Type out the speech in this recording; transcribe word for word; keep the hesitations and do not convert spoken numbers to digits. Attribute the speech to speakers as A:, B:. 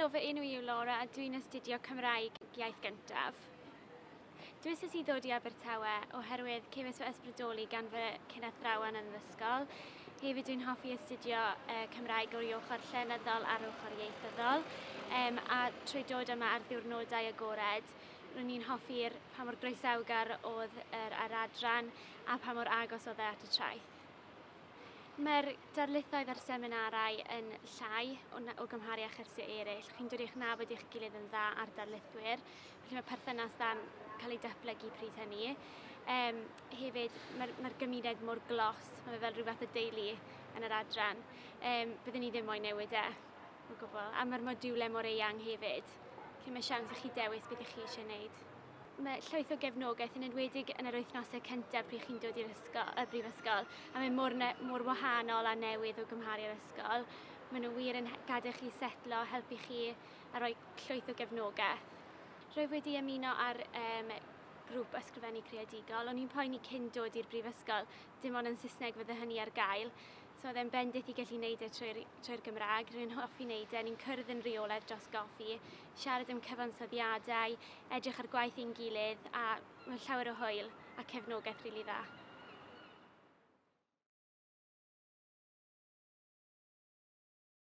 A: Helo, fy enw i yw Laura a dwi'n astudio Cymraeg iaith gyntaf. Dewisais i ddod i Abertawe oherwydd cefais fy ysbrydoli gan fy cyn-athrawon yn yr ysgol. Hefyd dwi'n hoffi astudio uh, Cymraeg o'r ochr llenyddol a'r ochr ieithyddol. Um, a trwy dod yma ar ddiwrnodau agored, ro'n i'n hoffi'r pa mor groesawgar oedd yr, yr adran a pa mor agos oedd e at y traeth. Mae'r darlithoedd a'r seminarau yn llai o, o gymharu â chyrsiau eraill. Chi'n dod i'ch nabod i'ch gilydd yn dda a'r darlithwyr, felly mae perthynas dda'n cael ei datblygu pryd hynny. Um, hefyd, mae'r mae gymuned mor glos, mae fe fel rhyw fath o deulu yn yr adran. Um, byddwn ni ddim moyn newid e o gwbl. A mae'r modiwlau mor eang hefyd, lle mae siawns i chi dewis beth ych chi eisiau gwneud. Mae llwyth o gefnogaeth yn enwedig yn yr wythnosau cyntaf pryd chi'n dod i'r ysgol, y brifysgol, a mae mor, ne, mor wahanol a newydd o gymharu â'r ysgol. Maen nhw wir yn gadael chi setlo, helpu chi a rhoi llwyth o gefnogaeth. Rwyf wedi ymuno ar um, grŵp ysgrifennu creadigol. O'n i'n poeni cyn dod i'r brifysgol, dim ond yn Saesneg fydde hynny ar gael. So oedd e'n bendith i gallu wneud e trwy'r trwy Gymraeg. Rwy'n hoffi wneud e, ni'n cwrdd yn rheolaidd dros goffi, siarad am cyfansoddiadau, edrych ar gwaith ein gilydd, a mae'n llawer o hwyl a cefnogaeth rili dda.